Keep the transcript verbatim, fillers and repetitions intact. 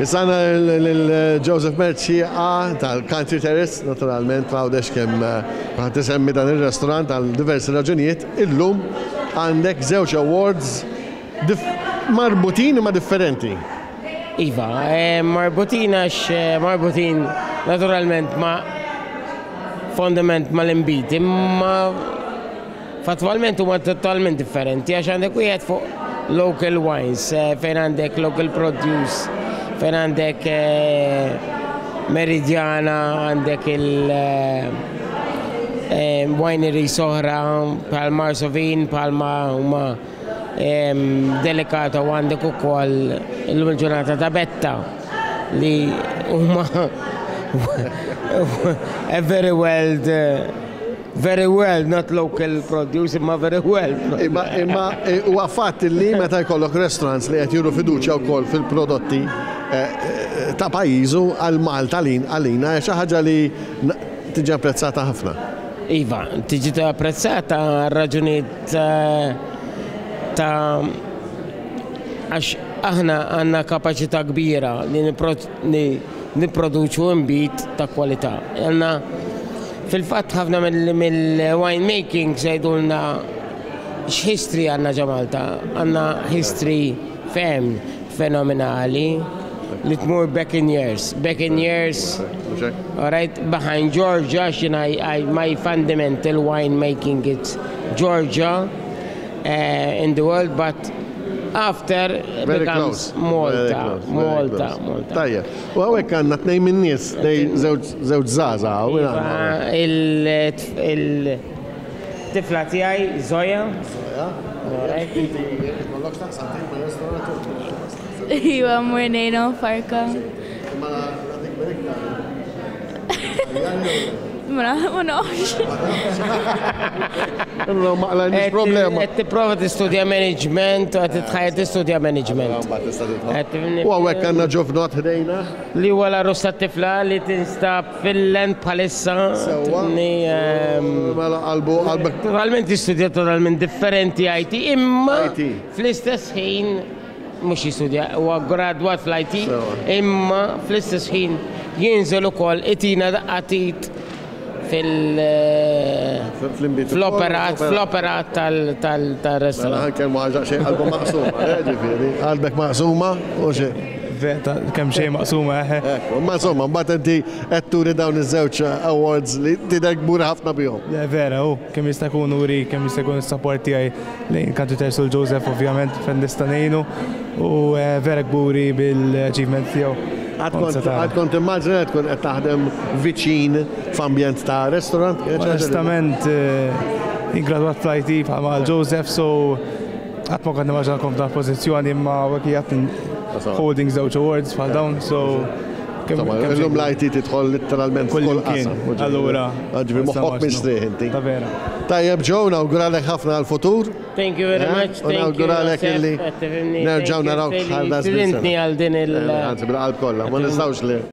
Issa għandna lil Joseph Mercieca tal-Country Terrace, naturalment, Għawdex kemm għad tisemmi dan il-restaurant għal diversi raġunijiet. Illum għandek żewġ awards marbutin ma differenti. Iva, eh, marbutin għax eh, marbutin naturalment ma fondament ma l-inbid, imma fatwalment huma totalment differenti għax għandek wieħed fuq local wines, eh, fejn għandek local produce, fejn għandek Meridiana, għandek il- winery oħra bħal Marsovin, bħalma huma Delicata u għandek ukoll illum il-ġurnata ta' Betta li huma a very well very well, not local produce, imma very well. Imma imma huwa fatt li meta jkollok restaurants li qed juru fiduċja wkoll fil-prodotti eh, eh, ta' pajjiżu għal Malta lin għalina xi ħaġa li tiġi apprezzata ħafna. Iva, tiġi apprezzata raġunijiet eh, ta' għax aħna għandna kapaċità kbira li nipproduċu inbid ta' kwalità. Għandna fil-fatt ħafna mill-wine making jgħidulna x'history għandna ġo Malta. Għandna history ferm fenomenali li tmur back in years. Back in years, all right, behind Georgia, I, I, my fundamental wine making it's Georgia uh, in the world, but after Very becomes close. Malta, Malta, Malta. Tajjeb. U hawnhekk għandna tnejn min-nies, żewġ żgħażagħ. Il-tifla tiegħi, Zoya. Zoya. Ikollok x'taqsam Iva, mmur ngħinhom Farka. Ma nagħtik iktar. Ma ma nafx. No, ma qlajniex problema. Qed tipprova tistudja management, u qed titħajja tistudja management. U hawnhekk għandna ġuvnot ħdejna. Li huwa l-għarus tat-tifla li tinstab Finland bħalissa. Sewwa. Ehm, Mela qalbu qalbek. Totalment jistudja totalment differenti I T, imma I T. fl-istess ħin mhux jistudja, huwa gradwat fl-I T, Sewwa. imma fl-istess ħin jinżel ukoll itina daqqa t'id fil- Fl-inbid. fl-operat, fl-operat tal-restaurant. Mela ħa nkellmu għal xejn qalbu maqsuma, eh, ġifieri. Qalbek maqsuma u xejn. Veta, kemm xejn maqsuma, eħe. Ekku, ma insomma, mbagħad inti qed turi dawn iż-żewġ awards li tidher kbur ħafna bihom. Le, vera, u kemm jista' jkun nuri, kemm jista' jkun is-support tiegħi lejn Country Terrace u Joseph, ovvjament, fejn nista' ngħinu u eh, vera kburi bil-achievement tiegħu. Għad kont għad kont immaġina tkun qed taħdem viċin f'ambjent ta' restaurant? Onestament, eh, ingradwat fl-I T bħalma Joseph, so qatt ma kont nimmaġina kont f'dan pożizzjoni imma hawnhekk qiegħed holding żewġ awards bħal dawn, so kemm- Insomma, kemm illum xejn- l-I T tidħol literalment Kull f'kull imkien. qasam. Allura, Ġifieri moħħok ma mistrieħ inti. Ta' vera. Tajjeb Joe, nawguralek ħafna għal-futur. Thank you very Eh? much. U Thank you. nawguralek illi Joseph, nerġgħu narawk bħal da żmien Stidintni għal din il- Anzi, bil-qalb kollha, ma nistgħux li.